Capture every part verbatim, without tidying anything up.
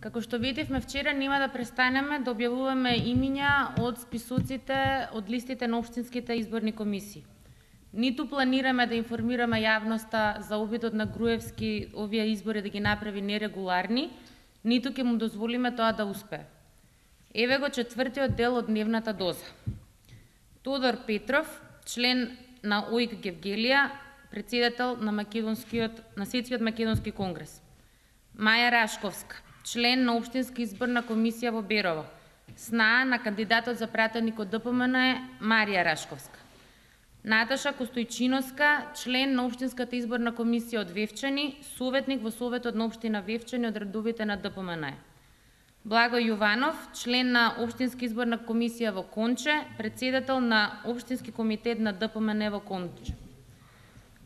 Како што видевме вчера, нема да престанеме да објавуваме имиња од списоците од листите на општинските изборни комисии. Ниту планираме да информираме јавноста за обидот на Груевски овие избори да ги направи нерегуларни, ниту ќе му дозволиме тоа да успее. Еве го четвртиот дел од дневната доза. Тодор Петров, член на ОИК Гевгелија, председател на македонскиот на Светскиот македонски конгрес. Маја Рашковска, член на Општинска изборна комисија во Берово. Снаа на кандидатот за пратеник од ДПМН е Марија Рашковска. Наташа Костојчиновска, член на Општинската изборна комисија од Вевчани, советник во Советот на општина Вевчани од редовите на ДПМН. Благој Јованов, член на Општинска изборна комисија во Конче, председател на Општински комитет на ДПМН во Конче.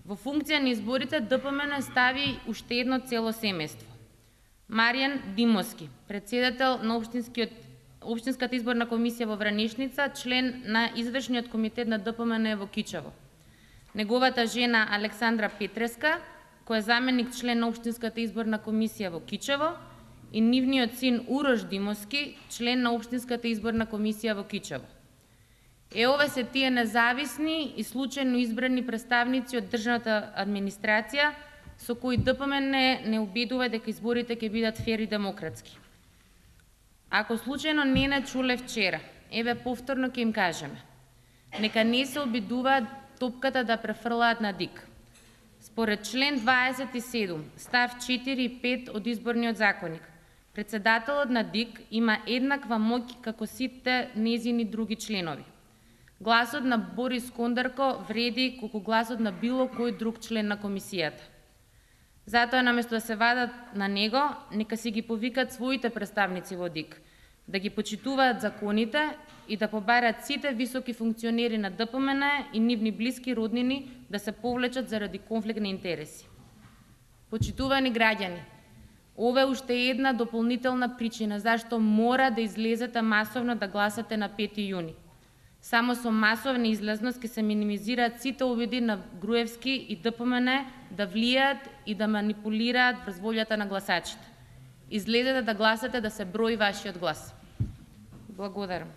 Во функција на изборите ДПМН стави уште едно цело семејство. Маријан Димовски, председател на Општинскиот Општинската изборна комисија во Вранишница, член на извршниот комитет на ДПМН во Кичево. Неговата жена Александра Петреска, која е заменик член на Општинската изборна комисија во Кичево, и нивниот син Урош Димовски, член на Општинската изборна комисија во Кичево. Е, ове се тие независни и случајно избрани представници од државната администрација со кои ДПМН не, не убедува дека изборите ќе бидат фер и демократски. Ако случајно не не чуле вчера, еве повторно ќе им кажеме. Нека не се обидуваат топката да префрлаат на ДИК. Според член дваесет и седум, став четири и пет од изборниот законник, председателот на ДИК има еднаква моќ како сите незини други членови. Гласот на Борис Кондарко вреди колку гласот на било кој друг член на комисијата. Затоа, наместо да се вадат на него, нека си ги повикат своите представници во ДИК, да ги почитуваат законите и да побарат сите високи функционери на ДПМН и нивни блиски роднини да се повлечат заради конфликт на интереси. Почитувани граѓани, ова е уште една дополнителна причина зашто мора да излезете масовно да гласате на пети јуни. Само со масовна излезност ќе се минимизираат сите обиди на Груевски и ДПМН да влијаат и да манипулираат врз волјата на гласачите. Излезете да гласате да се брои вашиот глас. Благодарам.